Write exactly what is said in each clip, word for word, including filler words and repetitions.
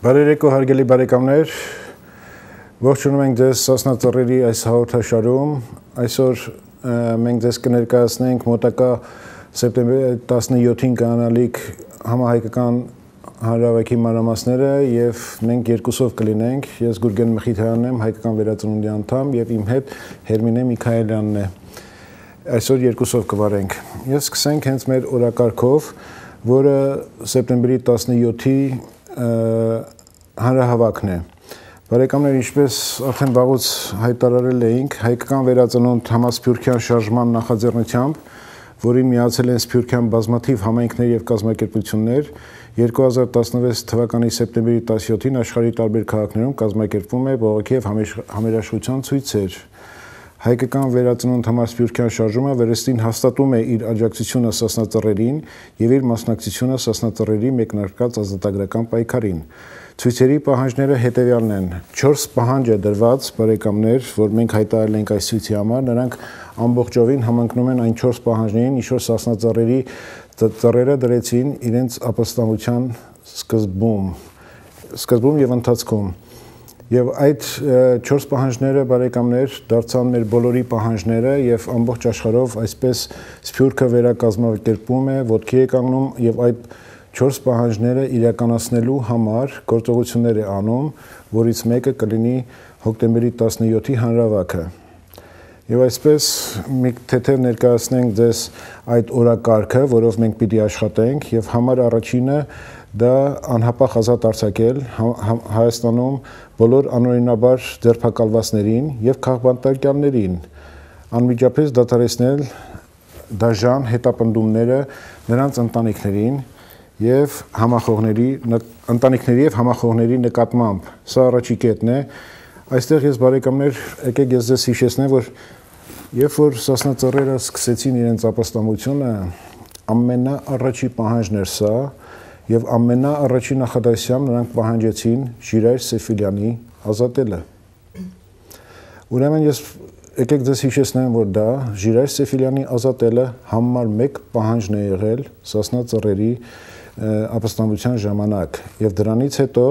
Բարերեկո հարգելի բարեկամներ, ողջունում ենք ձեզ Սասնա ծռերի այս հաղորդաշարում։ Այսօր մենք ձեզ կներկայացնենք մոտակա սեպտեմբերի տասնյոթին կանալիք համահայկական հանրահավաքի մանրամասները եւ մենք երկուսով կլինենք։ Ես Գուրգեն Մխիթարյանն եմ, հայկական վերածնունդի անդամ եւ իմ հետ Հերմինե Միքայելյանն է։ Այսօր երկուսով կվարենք։ Ես սկսենք հենց մեր օրակարգով, որը սեպտեմբերի տասնյոթի հանրահավաքն է։ Բարեկամներ, ինչպես արդեն վաղուց հայտարարել էինք, հայկական վերածնունդ համասփյուռքյան շարժման նախաձեռնությամբ, որին միացել են Սփյուռքյան բազմաթիվ համայնքներ եւ կազմակերպություններ, երկու հազար տասնվեց թվականի սեպտեմբերի տասնյոթին աշխարհի տարբեր քաղաքներում կազմակերպվում է բողոքի եւ համերաշխության ցույցեր։ Հայկական վերածնունդ համասփյուռքյան շարժումը վերստին հաստատում է իր աջակցությունը Սասնա ծռերին եւ իր մասնակցությունը Սասնա ծռերի մեկնարկած ազատագրական պայքարին։ Ցույցերի պահանջները հետևյալն են. չորս պահանջ է դրված, բարեկամներ, որ մենք հայտարարել ենք այս ցույցի համար, նրանք ամբողջովին համընկնում են այն չորս պահանջներին, ինչ որ Սասնա ծռերի ծռերը դրեցին իրենց ապստամբության սկզբում, սկզբում եւ ընթացքում։ Եվ այդ չորս պահանջները, բարեկամներ, դարձան մեր բոլորի պահանջները եւ ամբողջ աշխարհով այսպես Սփյուռքը վերակազմակերպում է, ոտքի է կանգնում եւ այդ չորս պահանջները իրականացնելու համար գործողություններ է անում, որից մեկը կլինի հոկտեմբերի տասնյոթի հանրահավաքը։ Եվ այսպես մի թեթև ներկայացնենք ձեզ այդ օրակարգը, որով մենք պիտի աշխատենք եւ համար առաջինը դա անհապաղ ազատ արձակել Հայաստանում բոլոր անօրինաբար ձերբակալվածներին եւ քաղբանտարկյալներին, անմիջապես դադարեցնել դաժան հետապնդումները նրանց ընտանիքներին եւ համախոհների ընտանիքների եւ համախոհների նկատմամբ։ Սա առաջի կետն է։ Այստեղ ես բարեկամներ, եկեք ես ձեզ հիշեցնեմ, որ երբ որ Սասնա ծռերը սկսեցին իրենց ապստամբությունը, ամենաառաջի պահանջն էր սա եւ ամենաառաջի նախադասությամբ նրանք պահանջեցին Ժիրայր Սեֆիլյանի ազատելը։ Ուրեմն ես եկեք ձեզ հիշեցնեմ, որ դա Ժիրայր Սեֆիլյանի ազատելը համար մեկ պահանջն է եղել Սասնա ծռերի ապստամբության ժամանակ եւ դրանից հետո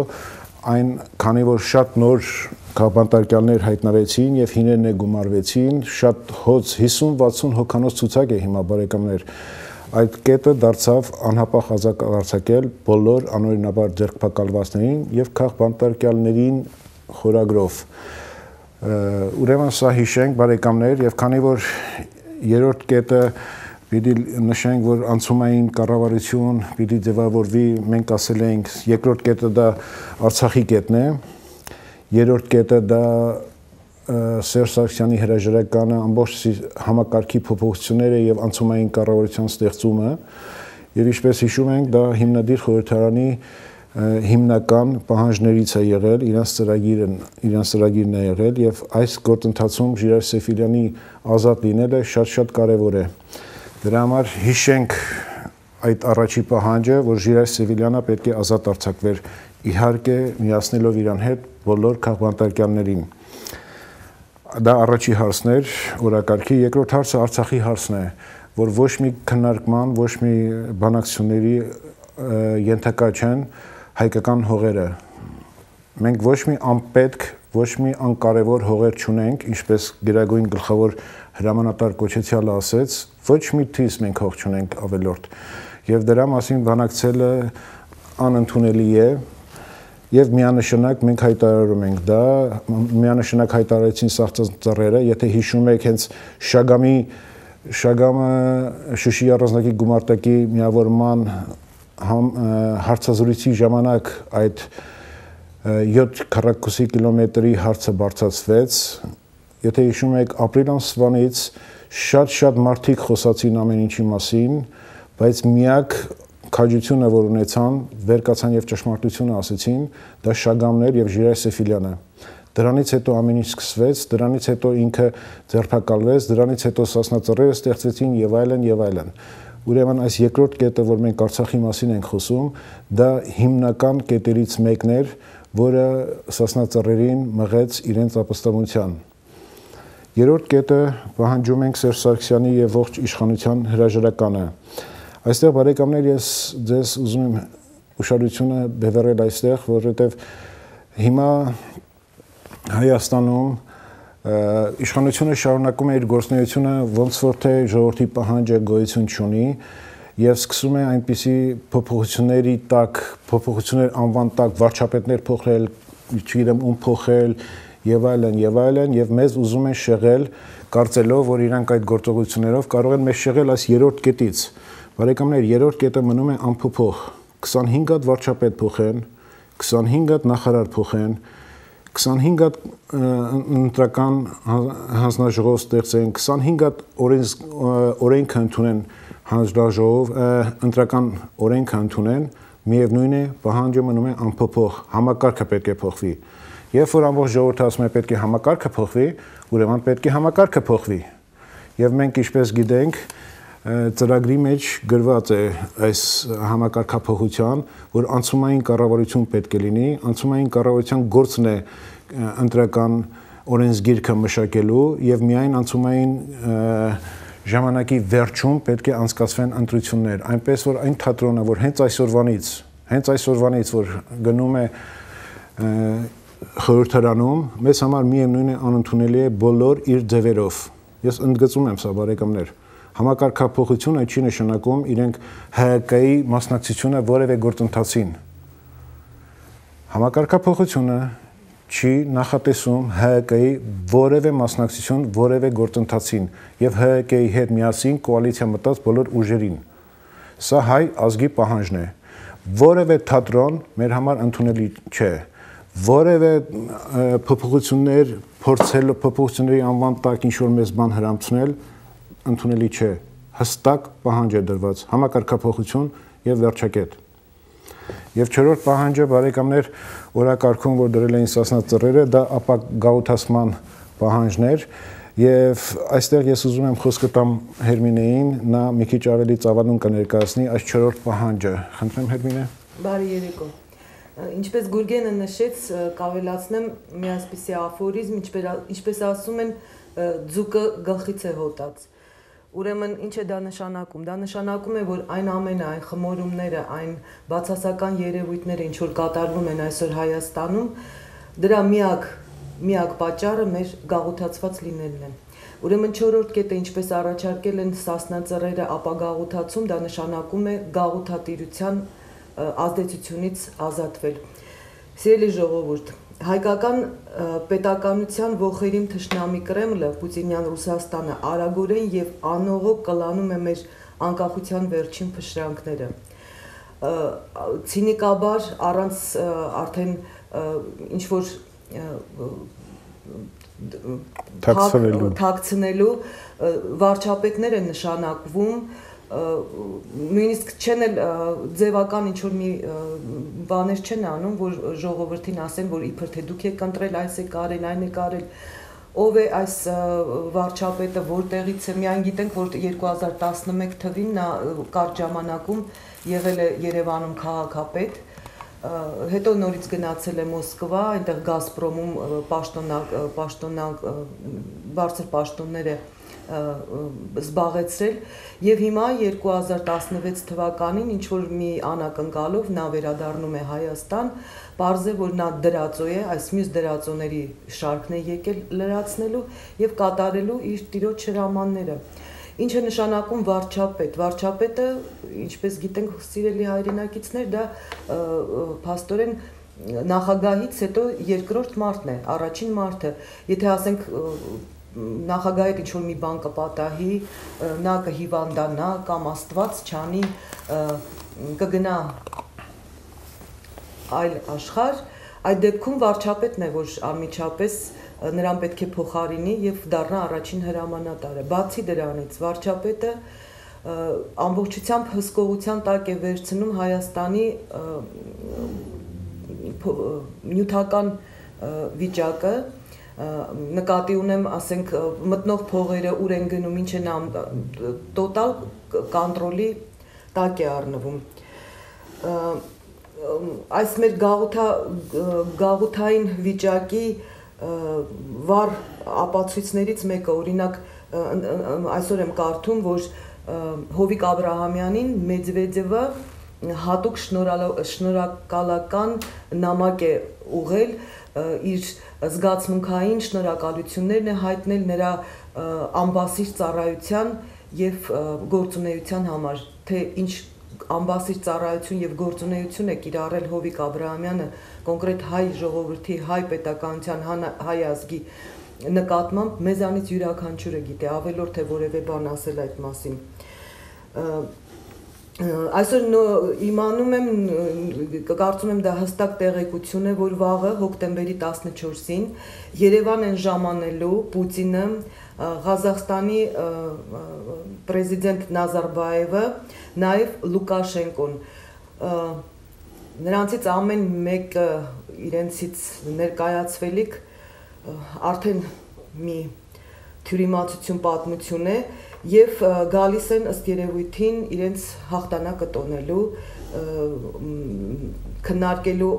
այն քանի որ շատ նոր քաղբանտարկյալներ հայտնվեցին եւ հիներն է գումարվեցին, շատ հոց հիսուն վաթսուն հոգանոց ցուցակ է հիմա բարեկամներ, այդ կետը դարձավ անհապաղ ազատ արձակել բոլոր անօրինաբար ձերբակալվածներին եւ քաղբանտարկյալներին խորագրով։ Ուրեմն սա հիշենք բարեկամներ եւ քանի որ երրորդ կետը պիտի նշենք, որ անցումային կառավարություն պիտի ձևավորվի, մենք ասել ենք, երկրորդ կետը դա Արցախի կետն է, երրորդ կետը դա Սերժ Սարգսյանի հրաժարականը, ամբողջ համակարգի փոփոխությունները եւ անցումային կառավարության ստեղծումը, եւ ինչպես հիշում ենք, դա հիմնադիր խորհրդարանի հիմնական պահանջներից է եղել, իրանց ծրագիրն, իրանց ծրագիրն է եղել եւ այս գործընթացում Ժիրայր Սեֆիլյանի ազատ լինելը շատ-շատ կարեւոր է։ Դրա համար հիշենք այդ առաջի պահանջը, որ Ժիրայր Սեֆիլյանը պետք է ազատ արձակվեր, իհարկե միացնելով իրան հետ բոլոր քաղբանտարկյալներին։ Դա առաջի հարցն էր օրակարգի, երկրորդ հարցը Արցախի հարցն է, որ ոչ մի քննարկման, ոչ մի բանակցությունների ենթակա չեն հայկական հողերը։ Մենք ոչ մի անպետք, ոչ մի անկարևոր հողեր չունենք, ինչպես Գերագույն գլխավոր հրամանատար Կոչեցյալը ասեց, ոչ մի թիվ մենք հող չունենք ավելորդ։ Եվ դրա մասին բանակցելը անընդունելի է եւ միանշանակ մենք հայտարարում ենք դա, միանշանակ հայտարարեցին Սասնա ծռերը, եթե հիշում եք հենց Շագամի Շագամը Շուշի առանձնակի գումարտակի միավորման հարցազրույցի ժամանակ այդ յոթ քառակուսի կիլոմետրի հարցը բարձրացվեց, եթե հիշում եք ապրիլ ամսվանից շատ-շատ մարդիկ խոսացին ամեն ինչի մասին, բայց միակ քաջությունը, որ ունեցան, վերկացան եւ ճշմարտությունը ասեցին, դա Շագամներ եւ Ժիրայր Սեֆիլյանը։ Դրանից հետո ամեն ինչ սկսվեց, դրանից հետո ինքը ձերբակալվեց, դրանից հետո Սասնա ծռերը ստեղծվեցին եւ այլն եւ այլն։ Ուրեմն այս երկրորդ կետը, որ մենք Արցախի մասին ենք խոսում, դա հիմնական կետերից մեկն էր, որը Սասնա ծռերին մղեց իրենց ապստամբության։ Երրորդ կետը պահանջում ենք Սերժ Սարգսյանի եւ ողջ իշխանության հրաժարականը։ Այստեղ բարեկամներ ես ձեզ ուզում եմ ուշադրությունը բևեռել այստեղ, որովհետև հիմա Հայաստանում իշխանությունը շարունակում է իր գործունեությունը ոնց որ թե ժողովրդի պահանջը գոյություն չունի եւ սկսում է այնպիսի փոփոխությունների տակ, փոփոխություններ անվան տակ վարչապետներ փոխել, չգիտեմ ում փոխել եւ այլն եւ այլն եւ մեզ ուզում են շեղել կարծելով, որ իրանք այդ գործողություններով կարող են մեզ շեղել այս երրորդ կետից։ Բարեկամներ, երրորդ կետը մնում է անփոփոխ։ քսանհինգ հատ վարչապետ փոխեն, քսանհինգ հատ նախարար փոխեն, քսանհինգ հատ ընտրական հանձնաժողով ստեղծեն, քսանհինգ հատ օրենք ընդունեն հանձնաժողով, ընտրական օրենք ընդունեն, միևնույն է, պահանջը մնում է անփոփոխ, համակարգը պետք է փոխվի։ Երբ որ ամբողջ ժողովուրդը ասում է պետք է համակարգը փոխվի, ուրեմն պետք է համակարգը փոխվի։ Եվ մենք ինչպես գիտենք, ծրագրի մեջ գրված է այս համակարգափոխության, որ անցումային կառավարություն պետք է լինի, անցումային կառավարության գործն է ընտրական օրենսգիրքը մշակելու եւ միայն անցումային ժամանակի վերջում պետք է անցկացվեն ընտրություններ, այնպես որ այն թատրոնը, որ հենց այսօրվանից, հենց այսօրվանից, որ գնում է խորհրդարանում, մեզ համար միևնույն է անընդունելի է բոլոր իր ձևերով։ Ես ընդգծում եմ սա, բարեկամներ։ Համակարգափոխությունը չի նշանակում իրենք Հ Կ-ի մասնակցությունը որևէ գործընթացին։ Համակարգափոխությունը չի նախատեսում Հ Կ-ի որևէ մասնակցություն որևէ գործընթացին եւ Հ Կ-ի հետ միասին կոալիցիա մտած բոլոր ուժերին։ Սա հայ ազգի պահանջն է։ Որևէ թատրոն մեր համար ընդունելի չէ։ Որևէ փոփոխություններ փորձել փոփոխությունների անվան տակ ինչ որ մեզ բան հրամցնել ընդունելի չէ։ Հստակ պահանջ է դրված, համակարգափոխություն եւ վերջակետ։ Եվ չորրորդ պահանջը, բարեկամներ, օրակարգում, որ դրել էին Սասնա Ծռերը, դա ապագաղութացման պահանջներ եւ այստեղ ես ուզում եմ խոսքը տամ Հերմինեին, նա մի քիչ ավելի ծավալուն կներկայացնի այս չորրորդ պահանջը։ Խնդրեմ Հերմինե։ Բարի երեկո։ Ինչպես Գուրգենը նշեց, կավելացնեմ մի այսպիսի աֆորիզմ, ինչպես ասում են, ձուկը գլխից է հոտած։ Ուրեմն ինչ է դա նշանակում։ Դա նշանակում է, որ այն ամենը, այն խմորումները, այն բացասական երևույթները, ինչ որ կատարվում են այսօր Հայաստանում, դրա միակ միակ պատճառը մեր գաղութացված լինելն է։ Ուրեմն չորրորդ կետը, ինչպես առաջարկել են Սասնա Ծռերը ապագաղութացում, դա նշանակում է գաղութատիրության ազդեցությունից ազատվել։ Սիրելի ժողովուրդ, հայկական պետականության ողերիմ թշնամի Կրեմլը, Պուտինյան Ռուսաստանը արագորեն եւ անողոք կլանում է մեր անկախության վերջին փշրանքները։ Ցինիկաբար առանց արդեն ինչ որ թաքցնելու վարչապետներ են նշանակվում, նույնիսկ չեն էլ ձևական ինչ-որ մի բաներ չեն անում, որ ժողովրդին ասեն, որ իբր թե դուք եք ընտրել, այս է կարել, այն է կարել, ով է այս վարչապետը, որտեղից է, միայն գիտենք, որ երկու հազար տասնմեկ թվին նա կարճ ժամանակում եղել է Երևանում քաղաքապետ, հետո նորից գնացել է Մոսկվա, այնտեղ Գազպրոմում պաշտոնյա բարձր պաշտոններ է զբաղեցրել եւ հիմա երկու հազար տասնվեց թվականին ինչ որ մի անակնկալով նա վերադառնում է Հայաստան, պարզ է որ նա դրածո է, այս մյուս դրածոների շարքն է եկել լրացնելու եւ կատարելու իր տիրոջ հրամանները։ Ինչը նշանակում վարչապետ։ Վարչապետը, ինչպես գիտենք, սիրելի հայրենակիցներ, դա փաստորեն նախագահից հետո երկրորդ մարդն է, առաջին մարդը։ Եթե ասենք նախագահի ինչ որ մի բան կպատահի, նա կհիվանդանա կամ Աստված չանի, կգնա այլ աշխարհ, այդ դեպքում վարչապետն է, որ անմիջապես նրան պետք է փոխարինի եւ դառնա առաջին հրամանատարը։ Բացի դրանից, վարչապետը ամբողջությամբ հսկողության տակ է վերցնում Հայաստանի նյութական վիճակը, նկատի ունեմ, ասենք, մտնող փողերը ուր են գնում, ինչ են տոտալ կոնտրոլի տակ է առնվում։ Այս մեր գաղութային վիճակի վառ ապացույցներից մեկը, օրինակ, այսօր եմ կարդում, որ Հովիկ Աբրահամյանին Մեդվեդևը հատուկ շնորհակալական նամակ է ուղղել իր զգացմունքային շնորհակալություններն է հայտնել նրա ամբասիր ծառայության եւ գործունեության համար, թե ինչ ամբասիր ծառայություն եւ գործունեություն է կիրառել Հովիկ Աբրահամյանը կոնկրետ հայ ժողովրդի, հայ պետականության, հայ ազգի նկատմամբ մեզանից յուրաքանչյուրը գիտի, ավելորդ է որևէ բան ասել այդ մասին։ Այսօր իմանում եմ, կարծում եմ դա հստակ տեղեկություն է, որ վաղը հոկտեմբերի տասնչորսին Երևան են ժամանելու Պուտինը, Ղազախստանի պրեզիդենտ Նազարբաևը, նաև Լուկաշենկոն։ Նրանցից ամեն մեկը իրենցից ներկայացվելիք արդեն մի թյուրիմացություն պատմություն է եւ գալիս են ըստ երևույթին իրենց հաղթանակը տոնելու, քննարկելու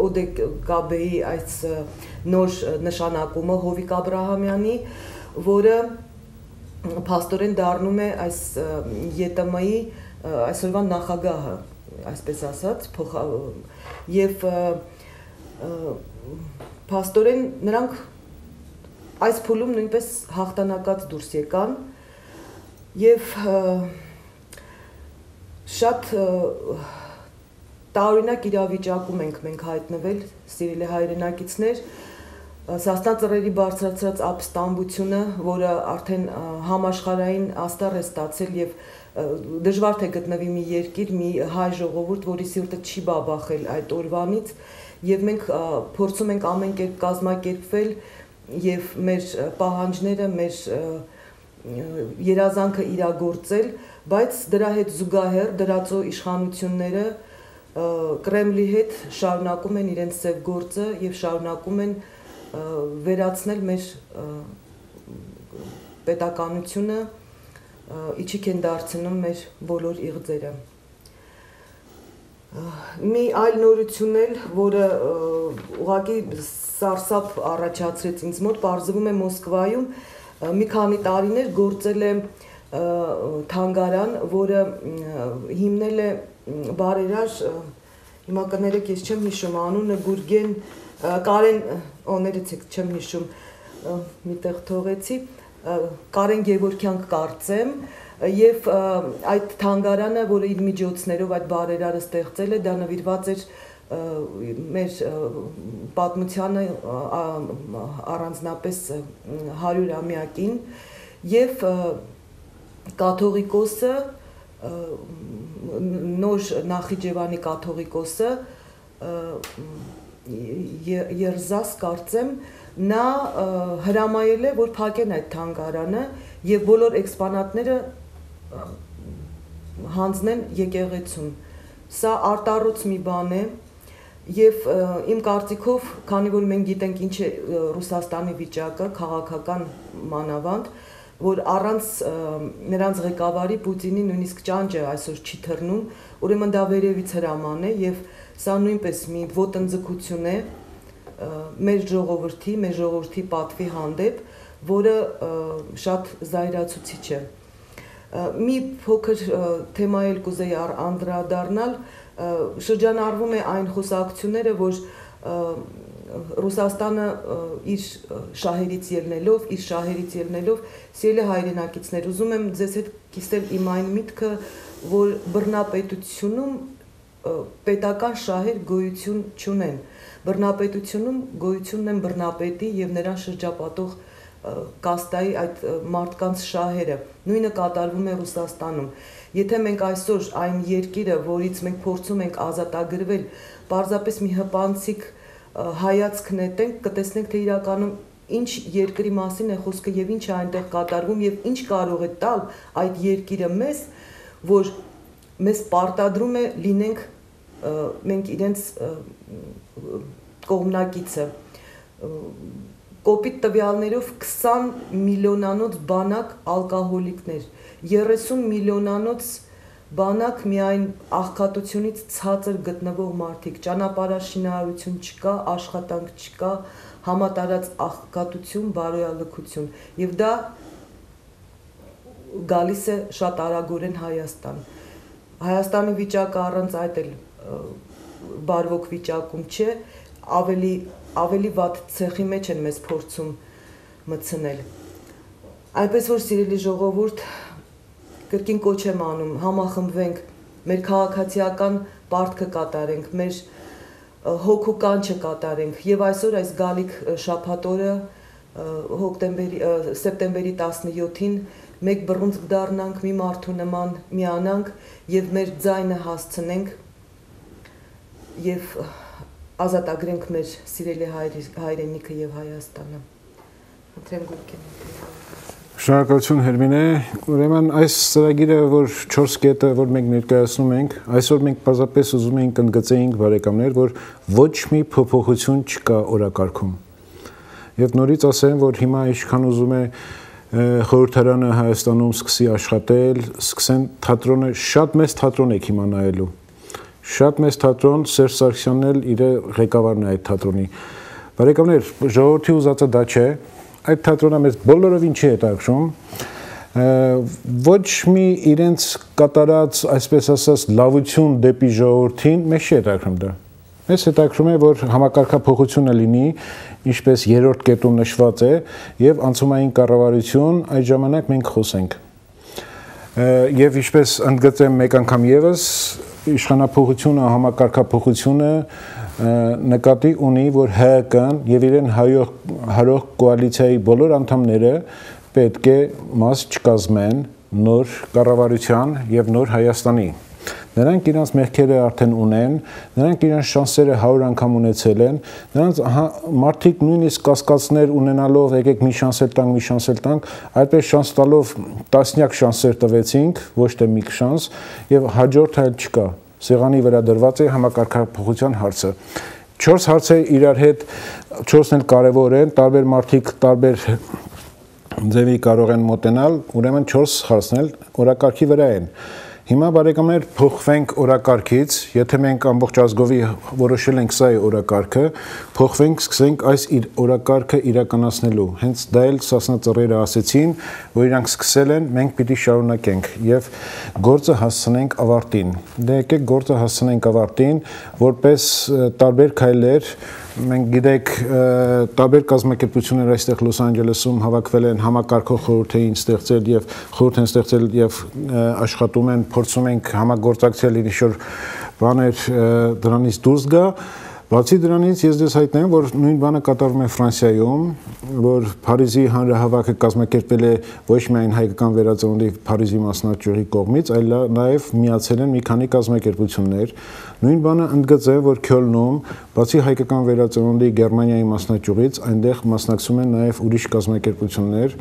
Օդեկաբեի այս նոր նշանակումը Հովիկ Աբրահամյանի, որը փաստորեն դառնում է այս ԵՏՄ-ի այսօրվա նախագահը, այսպես ասած, եւ փաստորեն նրանք այս փուլում նույնպես հաղթանակած դուրս եկան եւ շատ տարօրինակ իրավիճակում ենք մենք հայտնվել, սիրելի հայրենակիցներ, Սասնա ծռերի բարձրացած ապստամբությունը, որը արդեն համաշխարհային աստառ է ստացել եւ դժվար թե գտնվի մի երկիր, մի հայ ժողովուրդ, որի սիրտը չի բաբախել այդ օրվանից, եւ մենք փորձում ենք ամեն կերպ կազմակերպվել եւ մեր պահանջները, մեր երազանքը իրագործել, բայց դրա հետ զուգահեռ դրածո իշխանությունները Կրեմլի հետ շարունակում են իրենց ծև գործը եւ շարունակում են վերացնել մեր պետականությունը, իջիկ են դարձնում մեր բոլոր իղձերը։ Մի այլ նորություն էլ, որը ուղղակի սարսափ առաջացրեց ինձ մոտ, պարզվում է Մոսկվայում մի քանի տարիներ գործել է թանգարան, որը հիմնել է բարերար, հիմա կներեք, ես չեմ հիշում անունը, Գուրգեն, Կարեն, օներեցեք, չեմ հիշում, միտեղ թողեցի, Կարեն Գևորգյան կարծեմ, եւ այդ թանգարանը, որը իր միջոցներով այդ բարերարը ստեղծել է, դա նվիրված էր մեր պատմությանը առանձնապես հարյուրամյակին եւ կաթողիկոսը, նոր Նախիջևանի կաթողիկոսը Երզաս կարծեմ, նա հրամայել է, որ փակեն այդ թանգարանը եւ բոլոր էքսպոնատները հանձնեն եկեղեցուն։ Սա արտառոց մի բան է եւ իմ կարծիքով, քանի որ մենք գիտենք ինչ է Ռուսաստանի վիճակը, քաղաքական մանավանդ, որ առանց նրանց ղեկավարի Պուտինի նույնիսկ ճանճը այսօր չի թռնում, ուրեմն դա վերևից հրաման է եւ սա նույնպես մի ոտնձգություն է մեր ժողովրդի, մեր ժողովրդի պատվի հանդեպ, որը շատ զայրացուցիչ է։ Մի փոքր թեմա էլ կուզեի անդրադառնալ, շրջանառվում է այն խոսակցությունները, որ Ռուսաստանը իր շահերից ելնելով, իր շահերից ելնելով, սիրելի հայրենակիցներ, ուզում եմ ձեզ հետ կիսել իմ այն միտքը, որ բռնապետությունում պետական շահեր գոյություն չունեն։ Բռնապետությունում գոյությունն են բռնապետի եւ նրան շրջապատող կաստայի այդ մարդկանց շահերը, նույնը կատարվում է Ռուսաստանում։ Եթե մենք այսօր այն երկիրը, որից մենք փորձում ենք ազատագրվել, պարզապես մի հպանցիկ հայացք նետենք, կտեսնենք, թե իրականում ինչ երկրի մասին է խոսքը եւ ինչ է այնտեղ կատարվում եւ ինչ կարող է տալ այդ երկիրը մեզ, որ մեզ պարտադրում է լինենք մենք իրենց կողմնակիցը։ Կոպիտ տվյալներով քսան միլիոնանոց բանակ ալկոհոլիկներ, երեսուն միլիոնանոց բանակ միայն աղքատությունից ցածր գտնվող մարդիկ, ճանապարհաշինարարություն չկա, աշխատանք չկա, համատարած աղքատություն, բարոյալքություն, եւ դա գալիս է շատ արագորեն Հայաստան։ Հայաստանի վիճակը առանց այդ էլ բարվոք վիճակում չէ, ավելի ավելի վատ ցեխի մեջ են մեզ փորձում մտցնել։ Այնպես որ սիրելի ժողովուրդ, կրկին կոչ եմ անում, համախմբվենք, մեր քաղաքացիական պարտքը կատարենք, մեր հոգու կանչը կատարենք եւ այսօր այս գալիք շաբաթ օրը հոկտեմբերի սեպտեմբերի տասնյոթին մեկ բռունցք դառնանք, մի մարդու նման միանանք եւ մեր ձայնը հասցնենք եւ ազատագրենք մեր սիրելի հայրենիքը եւ Հայաստանը։ Խնդրեմ Գուրգեն։ Շնորհակալություն Հերմինե, ուրեմն այս ծրագիրը, որ չորս կետը, որ մենք ներկայացնում ենք, այսօր մենք պարզապես ուզում ենք ընդգծեինք բարեկամներ, որ ոչ մի փոփոխություն չկա օրակարգում։ Եվ նորից ասեմ, որ հիմա ինչքան ուզում է խորհրդարանը Հայաստանում սկսի աշխատել, սկսեն թատրոնը, շատ մեծ թատրոն եք հիմա նայելու։ Շատ մեծ թատրոն, Սերժ Սարգսյանն էլ իր ղեկավարն է այդ թատրոնի։ Բարեկամներ, ժողովրդի ուզածը դա չէ, այդ թատրոնը մեզ բոլորովին չի հետաքրում, ոչ մի իրենց կատարած, այսպես ասած, լավություն դեպի ժողովրդին մեզ չի հետաքրում դա։ Մեզ հետաքրում է, որ համակարգափոխությունը լինի, ինչպես երրորդ կետում նշված է, եւ անցումային կառավարություն, այդ ժամանակ մենք խոսենք։ Եվ ինչպես ընդգծեմ մեկ անգամ եւս, իշխանափոխությունը, համակարգափոխությունը նկատի ունի, որ Հ Կ-ն եւ իրեն հարող կոալիցիայի բոլոր անդամները պետք է մաս չկազմեն նոր կառավարության եւ նոր Հայաստանի։ Նրանք իրենց մեղքերը արդեն ունեն, նրանք իրենց շանսերը հարյուր անգամ ունեցել են, նրանց մարդիկ նույնիսկ կասկածներ ունենալով եկեք մի շանս էլ տանք, մի շանս էլ տանք, այդպես շանս տալով տասնյակ շանսեր տվեցինք, ոչ թե մի շանս, եւ հաջորդը էլ չկա։ Սեղանի վրա դրված է համակարգափոխության հարցը։ Չորս հարցեր իրար հետ, չորսն էլ կարևոր են, տարբեր մարդիկ տարբեր ձևի կարող են մոտենալ, ուրեմն չորս հարցն էլ օրակարգի վրա են։ Հիմա բարեկամներ փոխվենք օրակարգից, եթե մենք ամբողջ ազգովի որոշել ենք սա է օրակարգը, փոխվենք, սկսենք այս օրակարգը իրականացնելու։ Հենց դա էլ Սասնա ծռերը ասեցին, որ իրանք սկսել են, մենք պիտի շարունակենք եւ գործը հասցնենք ավարտին։ Դե եկեք գործը հասցնենք ավարտին, որպես տարբեր քայլեր մենք գիտեք տարբեր կազմակերպություններ այստեղ Լոս Անջելեսում հավաքվել են համակարգող խորհուրդ էին ստեղծել եւ խորհուրդ են ստեղծել եւ աշխատում են, փորձում ենք համագործակցել ինչ-որ բաներ դրանից դուրս գա։ Բացի դրանից ես դες հայտնեմ, որ նույն բանը կատարվում է Ֆրանսիայում, որ Փարիզի հանրահավաքը կազմակերպվել է ոչ միայն հայկական վերածնունդի Փարիզի մասնաճյուղի կողմից, այլ նաև միացել են մի քանի կազմակերպություններ։ Նույն բանը ընդգծեմ, որ Քյոլնում, բացի հայկական վերածնունդի Գերմանիայի մասնաճյուղից, այնտեղ մասնակցում են նաև ուրիշ կազմակերպություններ։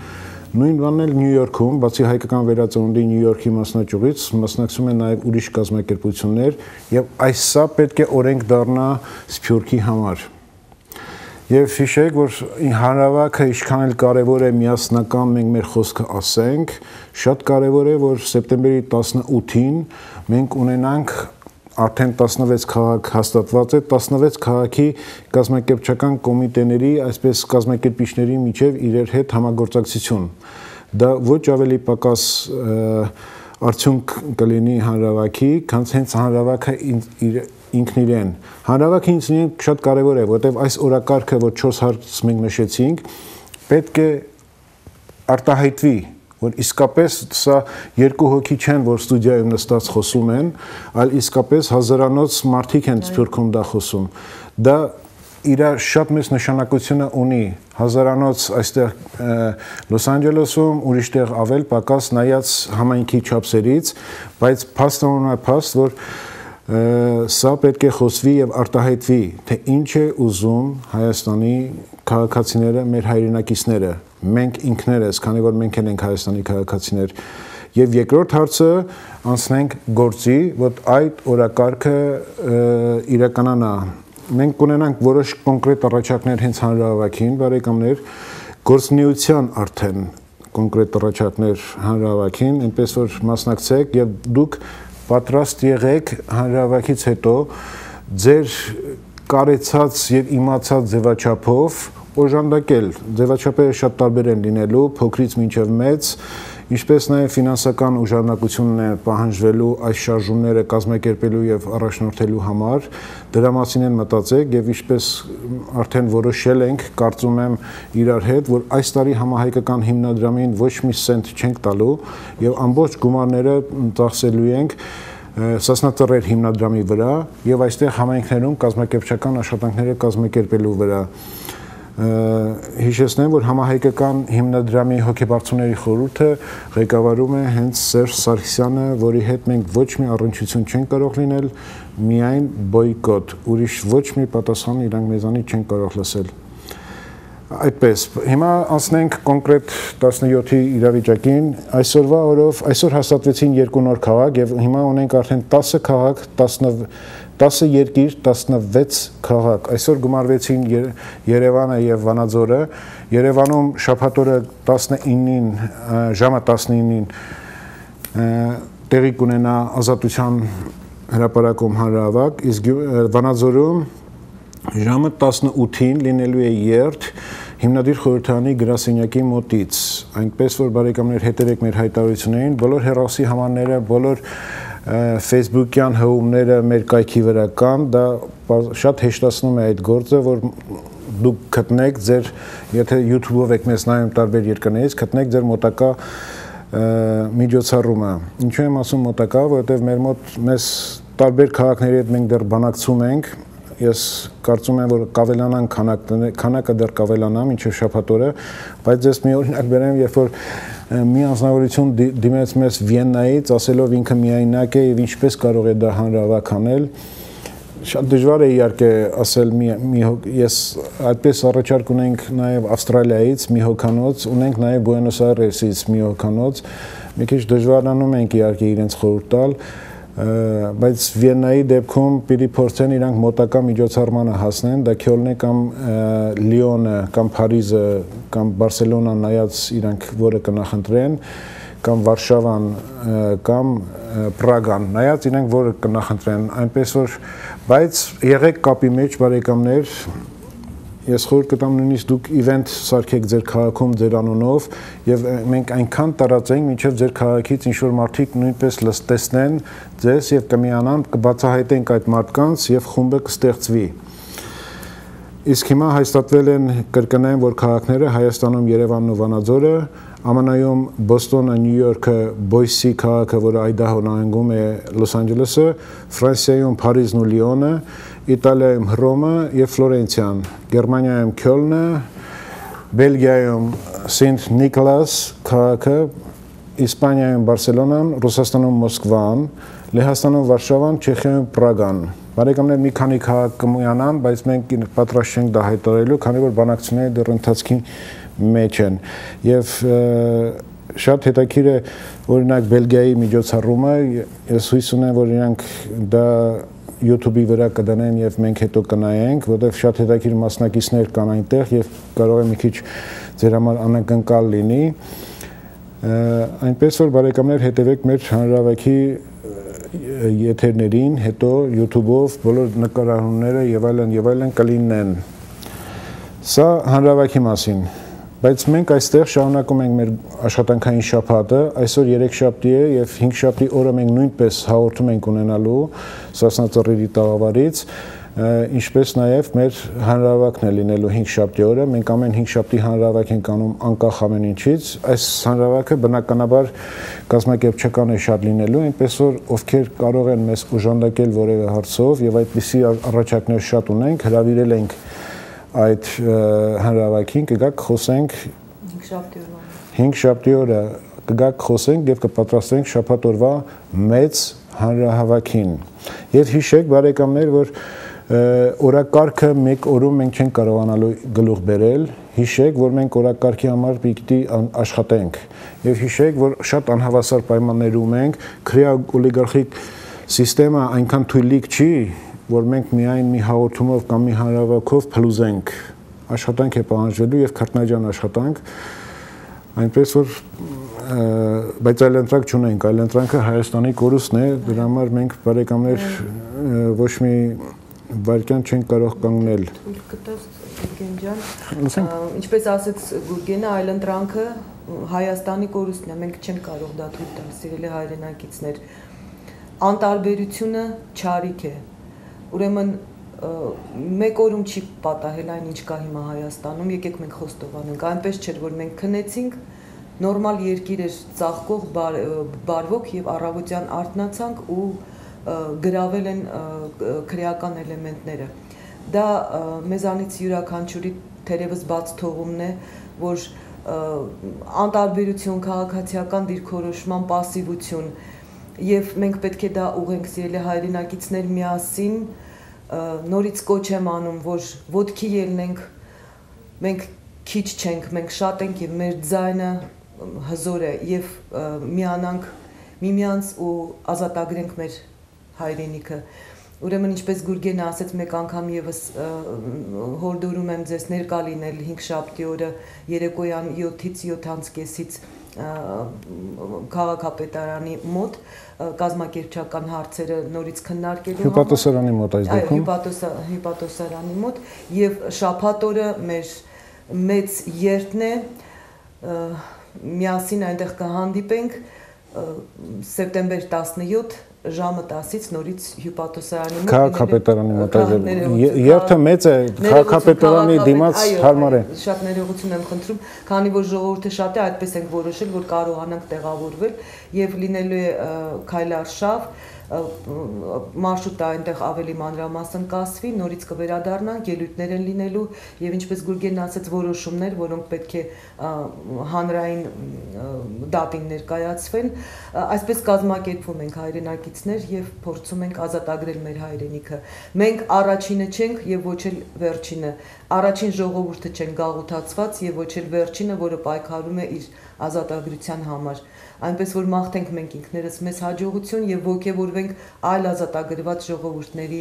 Նույն բանն էլ Նյու Յորքում, բացի հայկական վերածնունդի Նյու Յորքի մասնաճյուղից, մասնակցում են նաև ուրիշ կազմակերպություններ, եւ այս սա պետք է օրենք դառնա Սփյուռքի համար։ Եվ հիշեք, որ հանրահավաքը ինչքան էլ կարևոր է միասնական մենք մեր խոսքը ասենք, շատ կարևոր է, որ սեպտեմբերի տասնութին մենք ունենանք արդեն տասնվեց քաղաք հաստատված է, տասնվեց քաղաքի կազմակերպչական կոմիտեների, այսպես կազմակերպիչների միջև իրար հետ համագործակցություն։ Դա ոչ ավելի պակաս արդյունք կլինի հանրահավաքի, քան հենց հանրահավաքը ինքն իրեն։ Հանրահավաքը ինքնին շատ կարևոր է, որտեղ այս օրակարգը, որ չորս հարց մենք նշեցինք, պետք է արտահայտվի, որ իսկապես սա երկու հոգի չեն, որ ստուդիայում նստած խոսում են, այլ իսկապես հազարանոց մարդիկ են Սփյուռքում դա խոսում։ Դա իր շատ մեծ նշանակությունը ունի հազարանոց այստեղ Լոս Անջելեսում, ուրիշ տեղ ավել պակաս նայած համայնքի չափսերից, բայց փաստորեն է փաստ, որ սա պետք է խոսվի եւ արտահայտվի, թե ինչ է ուզում Հայաստանի քաղաքացիները, մեր հայրենակիցները, մենք ինքներս, քանի որ մենք ենք Հայաստանի քաղաքացիներ, եւ երկրորդ հարցը անցնենք գործի, որ այդ օրակարգը իրականանա։ Մենք կունենանք որոշ կոնկրետ առաջարկներ հենց հանրահավաքին, բարեկամներ, գործնեության արդեն կոնկրետ առաջարկներ հանրահավաքին, այնպես որ մասնակցեք եւ դուք պատրաստ եղեք հանրահավաքից հետո ձեր կարեցած եւ իմացած ձևաչափով օժանդակել։ Ձևաչափերը շատ տարբեր են լինելու, փոքրից մինչև մեծ, ինչպես նաև ֆինանսական ուժարունակությունն է պահանջվելու այս շարժումները կազմակերպելու եւ առաջնորդելու համար, դրա մասին են մտածեք եւ ինչպես արդեն որոշել ենք, կարծում եմ իրար հետ, որ այս տարի համահայկական հիմնադրամին ոչ մի սենտ չենք տալու եւ ամբողջ գումարները ծախսելու ենք Սասնա Ծռեր հիմնադրամի վրա եւ այստեղ համայնքներում կազմակերպչական աշխատանքները կազմակերպելու վրա հիշեցնեմ, որ համահայկական հիմնադրամի հոգեբարձուների խորհուրդը ղեկավարում է հենց Սերժ Սարգսյանը, որի հետ մենք ոչ մի առնչություն չենք կարող լինել, միայն բոյկոտ, ուրիշ ոչ մի պատասխան իրանք մեզանից չեն կարող լսել։ Այդպես, հիմա անցնենք կոնկրետ տասնյոթի իրավիճակին, այսօրվա օրով, այսօր հաստատվեցին երկու նոր քաղաք եւ հիմա ունենք արդեն տասը քաղաք, տասը երկիր, տասնվեց քաղաք, այսօր գումարվեցին Երևանը եւ Վանաձորը, Երևանում շաբաթօրը տասնինին, ժամը տասնինին տեղի կունենա Ազատության հրապարակում հանրահավաք, իսկ Վանաձորում ժամը տասնութին լինելու է երթ հիմնադիր խորհրդարանի գրասենյակի մոտից, այնպես որ բարեկամներ հետևեք մեր հայտարարություններին, բոլոր հեռախոսի համարները, բոլոր Facebook-յան հղումները մեր կայքի վրա կան, դա շատ հեշտացնում է այդ գործը, որ դուք գտնեք ձեր, եթե YouTube-ով եք մեզ նայում տարբեր երկրներից, գտնեք ձեր մոտակա միջոցառումը։ Ինչու եմ ասում մոտակա, որովհետև մեր մոտ մեզ տարբեր քաղաքների հետ մենք դեռ բանակցում ենք, ես կարծում եմ, որ կավելանան քանակը դեռ կավելանա մինչև շաբաթ օրը, բայց ես մի օրինակ բերեմ, երբ որ մի անձնավորություն դիմեց մեզ Վիեննայից, ասելով ինքը միայնակ է եւ ինչպես կարող է դա հանրահավաք անել, շատ դժվար է իհարկե ասել մի ես այդպես առաջարկ ունենք նաեւ Ավստրալիայից մի հոկանոց, ունենք նաեւ Բուենոս Այրեսից մի հոկանոց, մի քիչ դժվարանում ենք իհարկե իրենց խորհուրդ տալ, բայց Վիեննայի դեպքում պիտի փորձեն իրանք մոտակա միջոցառմանը հասնեն, դա Քյոլնը կամ Լիոնը կամ Փարիզը կամ Բարսելոնան նայած իրանք որը կնախընտրեն կամ Վարշավան կամ Պրագան նայած իրանք որը կնախընտրեն, այնպես որ բայց եղեք կապի մեջ բարեկամներ, ես խորհուրդ կտամ նույնիսկ դուք իվենթ սարքեք ձեր քաղաքում ձեր անունով եւ մենք այնքան տարածենք, մինչեւ ձեր քաղաքից ինչ որ մարդիկ նույնպես լստեսնեն ձեզ եւ կմիանան, կբացահայտենք այդ մարդկանց եւ խումբը կստեղծվի։ Իսկ հիմա հաստատվել են կրկնեմ, որ քաղաքները Հայաստանում Երևանն ու Վանաձորը, ԱՄՆ-ում Բոստոնը, Նյու Յորքը, Բոյսի քաղաքը, որը Այդահո նահանգում է, Լոս Անջելեսը, Ֆրանսիայում Փարիզն ու Լիոնը, Իտալիայում Հռոմը եւ Ֆլորենցիան, Գերմանիայում Քյոլնը, Բելգիայում Սենտ Նիկոլաս քաղաքը, Իսպանիայում Բարսելոնան, Ռուսաստանում Մոսկվան, Լեհաստանում Վարշավան, Չեխիայում Պրագան։ Բարեկամներ մի քանի քաղաք կմոյանան, բայց մենք պատրաստ չենք դա հայտարարելու, քանի որ բանակցությունները դեռ ընթացքի մեջ են եւ շատ հետաքրքիր է օրինակ Բելգիայի միջոցառումը, ես հույս ունեմ, որ իրանք դա YouTube-ի վրա կդնեն եւ մենք հետո կնայենք, որովհետեւ շատ հետաքրքիր մասնակիցներ կան այնտեղ եւ կարող է մի քիչ ձեր համար անակնկալ լինի։ Այնպես որ բարեկամներ հետևեք մեր հանրահավաքի եթերներին, հետո YouTube-ով բոլոր նկարահանումները եւ այլն եւ այլն կլինեն։ Սա հանրահավաքի մասին, բայց մենք այստեղ շարունակում ենք մեր աշխատանքային շաբաթը, այսօր երեքշաբթի է եւ հինգշաբթի օրը մենք նույնպես հաղորդում ենք ունենալու Սասնա Ծռերի տաղավարից, ինչպես նաեւ մեր հանրահավաքն է լինելու հինգշաբթի օրը, մենք ամեն հինգշաբթի հանրահավաք ենք անում անկախ ամեն ինչից, այս հանրահավաքը բնականաբար կազմակերպչական է շատ լինելու, այնպես որ ովքեր կարող են մեզ օժանդակել որևէ հարցով եւ այդպիսի առաջարկներ շատ ունենք, հրավիրել ենք այդ հանրահավաքին կգաք խոսենք հինգշաբթի օրը կգաք խոսենք եւ կպատրաստենք շաբաթ օրվա մեծ հանրահավաքին եւ հիշեք բարեկամներ որ օրակարգը մեկ օրում մենք չենք կարողանալու գլուխ բերել, հիշեք, որ մենք օրակարգի համար պիտի աշխատենք եւ հիշեք, որ շատ անհավասար պայմաններում ենք, քրեա օլիգարխիկ սիստեմը այնքան թույլիկ չի, որ մենք միայն մի հաղորդումով կամ մի հանրահավաքով փլուզենք, աշխատանք է պահանջվելու եւ քրտնաջան աշխատանք, այնպես որ բայց այլ ընտրակ չունենք, այլ ընտրանքը Հայաստանի կորուստն է, դրա համար մենք բարեկամներ ոչ մի վարկյան չենք կարող կանգնել։ Ինչպես ասեց Գուրգենը, այլ ընտրանքը Հայաստանի կորուստն է, մենք չենք կարող դա թույլ տալ, սիրելի հայրենակիցներ։ Անտարբերությունը չարիք է։ Ուրեմն մեկ օրում չի պատահել այն, ինչ կա հիմա Հայաստանում, եկեք մենք խոստովանենք, այնպես չէր, որ մենք քնեցինք, նորմալ երկիր էր ծաղկող, բարվոք եւ առավոտյան արթնացանք ու գրավել են քրեական էլեմենտները։ Դա մեզանից յուրաքանչյուրի թերևս բաց թողումն է, որ անտարբերություն, քաղաքացիական դիրքորոշման պասիվություն եւ մենք պետք է դա ուղենք, սիրելի հայրենակիցներ, միասին նորից կոչ եմ անում, որ ոտքի ելնենք, մենք քիչ չենք, մենք շատ ենք եւ մեր ձայնը հզոր է եւ միանանք միմյանց ու ազատագրենք մեր հայրենիքը։ Ուրեմն ինչպես Գուրգենը ասեց, մեկ անգամ եւս հորդորում եմ ձեզ ներկա լինել հինգշաբթի օրը երեկոյան յոթից յոթ կեսից քաղաքապետարանի մոտ կազմակերպչական հարցերը նորից քննարկելու համար։ Հյուպատոսարանի մոտ այս դեպքում։ Այո, հյուպատոսարանի մոտ եւ շաբաթ օրը մեր մեծ երթն է միասին այնտեղ կհանդիպենք սեպտեմբեր տասնյոթ ժամը տասից նորից հյուպատոսարանի մոտ քաղաքապետարանի մոտ երթը մեծ է, քաղաքապետարանի դիմաց հարմար է։ Շատ ներողություն եմ խնդրում, քանի որ ժողովուրդը շատ է, այդպես ենք որոշել, որ կարողանանք տեղավորվել եւ լինելու է քայլարշավ, մարշրուտը այնտեղ ավելի մանրամասն կասվի, նորից կվերադառնանք, ելույթներ են լինելու եւ ինչպես Գուրգենն ասաց, որոշումներ, որոնք պետք է հանրային դատին ներկայացվեն, այսպես կազմակերպվում ենք հայրենակիցներ եւ փորձում ենք ազատագրել մեր հայրենիքը։ Մենք առաջինը չենք եւ ոչ էլ վերջինը, առաջին ժողովուրդը չեն գաղութացված եւ ոչ էլ վերջինը, որը պայքարում է իր ազատագրության համար։ Այնպես որ մաղթենք մենք ինքներս մեզ հաջողություն եւ ողջևորվենք այլ ազատագրված ժողովուրդների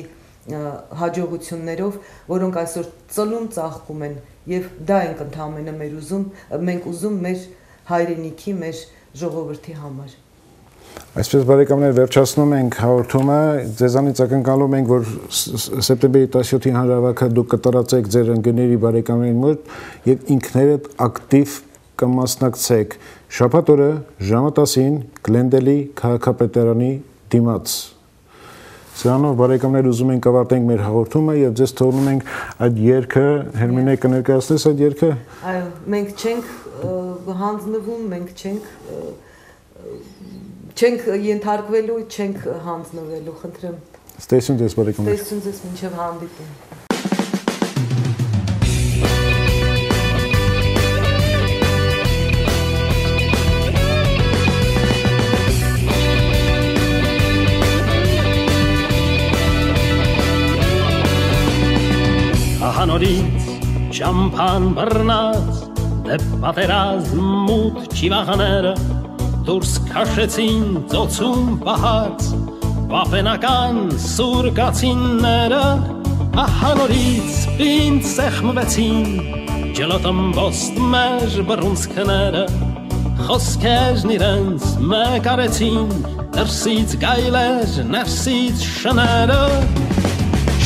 հաջողություններով, որոնք այսօր ծլում ծաղկում են եւ դա ենք ընդհանրապես մեր ուզում, մենք ուզում մեր հայրենիքի, մեր ժողովրդի համար։ Այսպես բարեկամներ վերջացնում ենք հաղորդումը, ձեզանից ակնկալում ենք, որ սեպտեմբերի տասնյոթի հանրահավաքը դուք կտարածեք ձեր ընկերների բարեկամների մոտ եւ ինքներդ ակտիվ կմասնակցեք։ Շաբաթ օրը ժամը տասին Գլենդելի քաղաքապետարանի դիմաց։ Սրանով բարեկամներ ուզում ենք ավարտենք մեր հաղորդումը եւ ձեզ թողնում ենք այդ երգը, Հերմինե կներկայացնես այդ երգը։ Այո, մենք չենք հանձնվում, մենք չենք չենք ենթարկվելու, չենք հանձնվելու, խնդրեմ։ Ստեսուն ձեզ բարեկամներ։ Ստեսուն ձեզ մինչև հանդիպում։ Հանորից ճամփան բռնած դեպ պատերազմ մութ ճիվախները դուրս քաշեցին ծոցում պահած վապենական սուրկացինները հանորից պինդ սեղմվեցին ջլոտմբոստ մեր բռունցքները խոսքերն իրենց մեկ արեցին դրսից գայլեր ներսից շները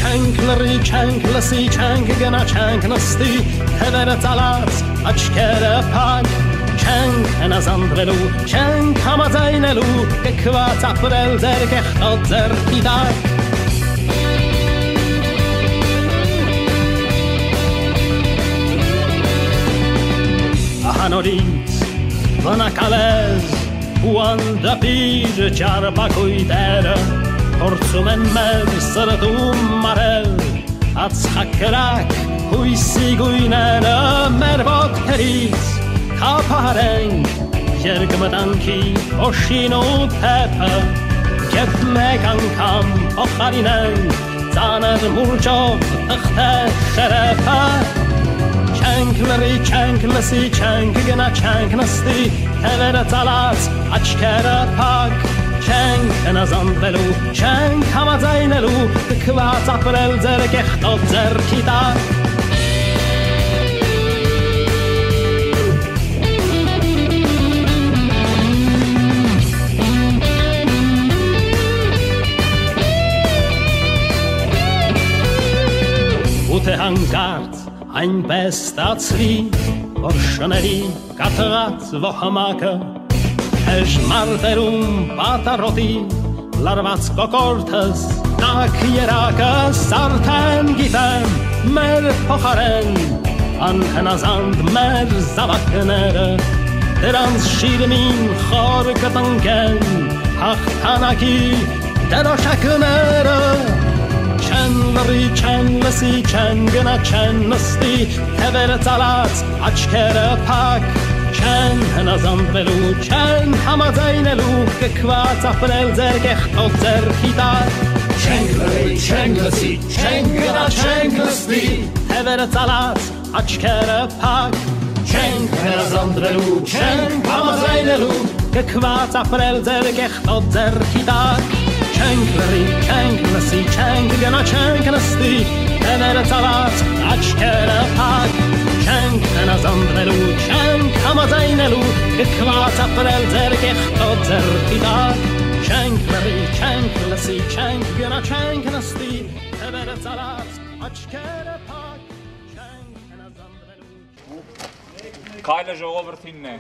Չենք լրի, չենք լսի, չենք գնա, չենք նստի, թևերը ծալած, աչքերը փակ, չենք հնազանդվելու, չենք համաձայնելու, կքված ապրել ձեր կեղտոտ ձեռքի տակ։ Ահանորից վնակալез ու անդապիր ճարպակույտերը Փորձում են մեր սրտում մարել ածխակրակ հույսի գույները մեր ոտքերից քափարենք երկմտանքի օշին ու թեփը Եվ մեկ անգամ փոխարինենք ծանր մուրճով թղթե շերեփը Չենք լրի, չենք լսի, չենք գնա, չենք նստի թևերը ծալած, աչքերը փակ Չենք հնազանդվելու, չենք համաձայնելու, կքված ապրել ձեր կեղտոտ ձեռքի տակ Ու թե հանկարծ այնպես ստացվի, որ շների կաթղած ողամակը Էժ մարտերում պատարոտի լարված կոկորդս Տակ երակս արդեն գիտեմ մեր փոխարեն Անհնազանդ մեր զավակները Դրանց շիրմին խոր կտնկեն Հաղթանակի դրոշակները Չեն լռի, չեն լսի, չեն գնա, չեն նստի Թևերը ծալած, աչքերը փակ Չեն հնազանդվելու, չեն համաձայնելու Կքված ապրել ձեր կեղտոտ ձեռքի տակ Չենք լռի, չենք լսի, չենք գնա, չենք նստի Թևերը ծալած, աչքերը փակ Չենք հնազանդվելու, չենք համաձայնելու Կքված ապրել ձեր կեղտոտ ձեռքի տակ Չենք լռի, չենք լսի, չենք գնա, չենք նստի Թևերը ծալած, աչքերը փակ Չենք հնազանդվելու, չենք համաձայնելու Կքված ապրել ձեր կեղտոտ ձեռքի տակ Չենք լռի, չենք լսի, չենք գնա, չենք նստի Թևերը ծալած, աչքերը փակ Չենք հնազանդվելու Քայլը ժողովրդինն է